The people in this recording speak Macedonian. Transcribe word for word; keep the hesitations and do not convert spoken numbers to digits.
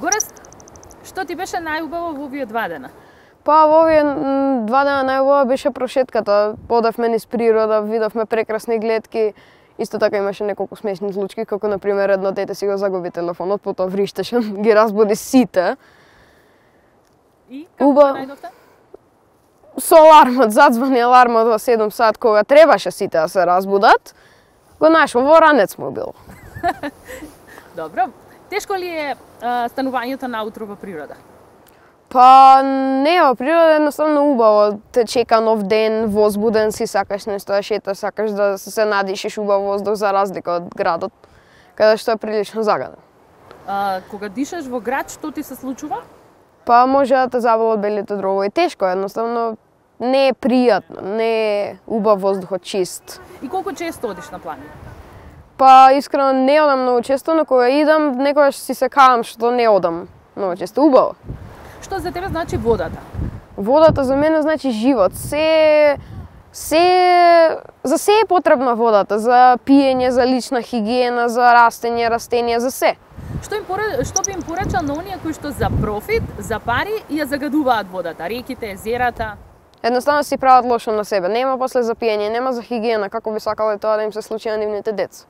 Горест, што ти беше најубаво во овие два дена? Па во овие два дена најубаво беше прошетката. Одевме низ природа, видовме прекрасни гледки. Исто така имаше неколку смешни случаи, како на пример едно дете си го загуби телефонот, потоа вриштеше, ги разбуди сите. И како Уба... најдовте? Со алармот, задзвани алармот во седум сат кога требаше сите да се разбудат. Го нашол во ранец му бил. Добро. Тешко ли е а, станувањето наутро во природа? Па не, во природа едноставно убаво. Те чека нов ден, возбуден си, сакаш нешто да шеташ, сакаш да се надишиш убав воздух за разлика од градот, каде што е прилично загаден. А, кога дишаш во град, што ти се случува? Па може да те заболат белите дробови. Тешко, едноставно не е пријатно, не е убав воздухот чист. И колку често одиш на планина? Па искрено не одам многу често, но кога идам некогаш си се кавам што не одам многу често. Убаво. Што за тебе значи водата? Водата за мене значи живот. Се се за се е потребна водата, за пиење, за лична хигиена, за растење, растенија, за се. Што им поре... што би им порачал на оние кои што за профит, за пари и ја загадуваат водата, реките, езерата? Едноставно си прават лошо на себе. Нема после за пиење, нема за хигиена, како би сакале тоа да им се случи на нивните деца.